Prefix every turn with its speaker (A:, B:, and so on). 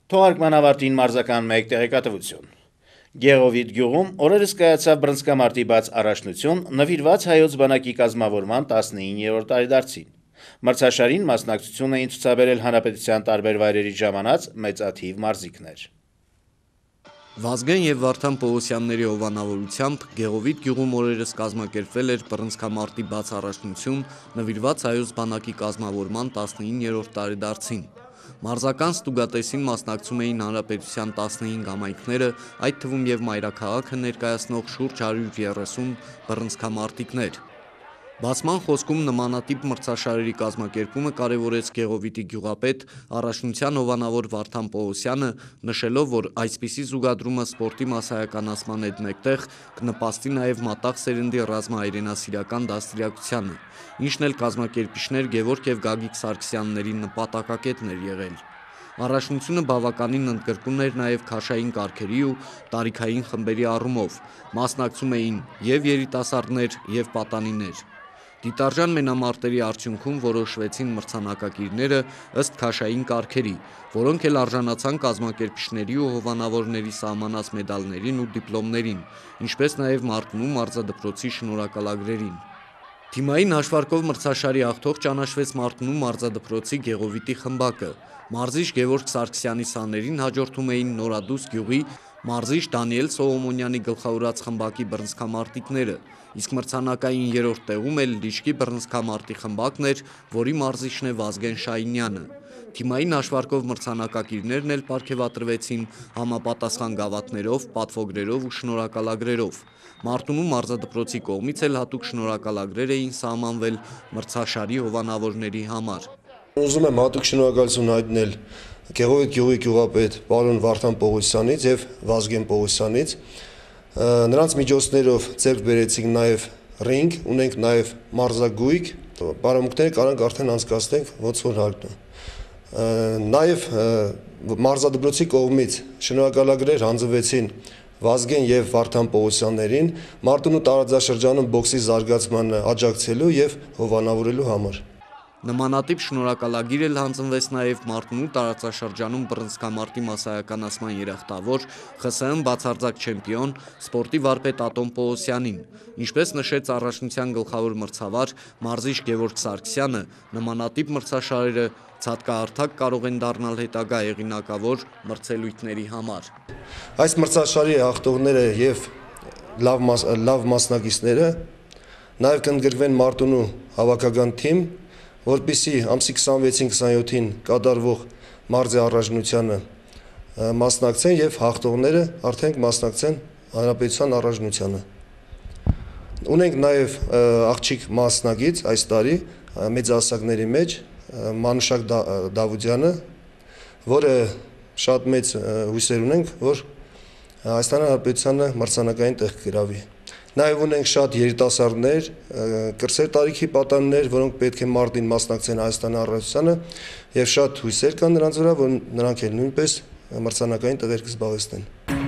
A: Թողարկման ավարտին մարզական մեկ տեղեկատվություն։ Գեղովիտ գյուղում օրերս կայացավ բռնցքամարտի բաց առաջնություն նվիրված հայոց բանակի կազմավորման 19-րդ տարեդարձին։ Մրցաշարին մասնակցություն էին ցուցաբերել հանրապետության տարբեր վայրերի ժամանած մեծաթիվ մարզիկներ։
B: Վազգեն եւ Վարդան Պողոսյանների հովանավորությամբ Գեղովիտ գյուղում օրերս կազմակերպվել էր բռնցքամարտի բաց առաջնություն նվիրված հայոց բանակի կազմավորման 19-րդ տարեդարձին։ Մարզական ստուգատեսին մասնակցում էին հանրապետության 15 համայնքները, այդ թվում եւ մայրաքաղաքը ներկայացնող շուրջ 130 բռնցքամարտիկներ։ Բացման խոսքում նմանատիպ մրցաշարերի կազմակերպումը կարևորեց Գեղովիտի գյուղապետ առաջնության հովանավոր Վարդան Պողոսյանը, նշելով, որ այսպիսի զուգադրումը սպորտի մասսայականացման հետ մեկտեղ կնպաստի նաև մատաղ սերնդի ռազմահայրենասիրական դաստիարակությանը, ինչն էլ կազմակերպիչներ Գևորգ եւ Գագիկ Սարգսյանների նպատակակետն էր եղել։ Առաջնությունը բավականին ընդգրկուն էր նաև քաշային կարգերի ու տարիքային խմբերի առումով, մասնակցում էին եւ երիտասարդներ եւ պատանիներ։ Դիտարժան մենամարտերի արդյունքում որոշվեցին մրցանակակիրները ըստ քաշային կարգերի, որոնք էլ արժանացան կազմակերպիչների ու հովանավորների սահմանած մեդալներին ու դիպլոմներին, ինչպես նաև Մարտունու մարզադպրոցի շնորհակալագրերին։ Թիմային հաշվարկով մրցաշարի հաղթող ճանաչվեց Մարտունու մարզադպրոցի Գեղովիտի խմբակը։ Մարզիչ Գևորգ Սարգսյանի սաներին հաջորդում էին Նորադուս գյուղի մարզիչ Դանիել Սողոմոնյանի գլխավորած խմբակի բռնցքամարտիկները, իսկ մրցանակային երրորդ տեղում էլ Լիճկի բռնցքամարտի խմբակն էր, որի մարզիչն է Վազգեն Շահինյանը։ Թիմային հաշվարկով մրցանակակիրներն էլ պարգևատրվեցին համապատասխան գավաթներով, պատվոգրերով ու շնորհակալագրերով։ Մարտունու մարզադպրոցի կողմից էլ հատուկ շնորհակալագրեր էին սահմանվել մրցաշարի հովանավորների համար։
C: Ուզում եմ հատուկ շնորհակալություն հայտնել Գեղովիտ գյուղի գյուղապետ պարոն Վարդան Պողոսյանից եւ Վազգեն Պողոսյանից։ Նրանց միջոցներով ձեռք բերեցինք նաեւ ռինգ, ունենք նաեւ մարզագույք, բարամուկները կարանք արդեն անցկացնենք ոնց որ հարկն է։ Նաեւ մարզադպրոցի կողմից շնորհակալագրեր հանձնվեցին Վազգեն եւ Վարդան Պողոսյաններին Մարտունու տարածաշրջանում բոքսի զարգացմանը աջակցելու եւ հովանավորելու համար։
B: Նմանատիպ շնորհակալագիր էլ հանձնվեց նաև Մարտունու տարածաշրջանում բռնցքամարտի մասսայականացման երախտավոր ԽՍՀՄ բացարձակ չեմպիոն սպորտի վարպետ Ատոմ Պողոսյանին, ինչպես նշեց առաջնության գլխավոր մրցավար մարզիչ Գևորգ Սարգսյանը, նմանատիպ մրցաշարերը ցատկահարթակ կարող են դառնալ հետագա հեղինակավոր մրցելույթների համար։
C: Այս մրցաշարի հաղթողները եւ լավ մասնակիցները նաեւ կընդգրկվեն Մարտունու հավաքական թիմ, որպեսզի ամսի 26-27-ին կատարվող մարզի առաջնությանը մասնակցեն եւ հաղթողները արդեն կմասնակցեն հանրապետության առաջնությանը։ Ունենք նաեւ աղջիկ մասնակից այս տարի մեծահասակների մեջ Մանուշակ Դավուդյանը, որը շատ մեծ հույսեր ունենք, որ Հայաստանի Հանրապետությանը մրցանակային տեղ կգրավի։ Նաև ունենք շատ երիտասարդներ, կրսեր տարիքի պատանիներ, որոնք պետք է մարտին մասնակցեն Հայաստանի Հանրապետությանը եւ շատ հույսեր կան նրանց վրա, որ նրանք էլ նույնպես մրցանակային տեղեր կզբաղեցնեն։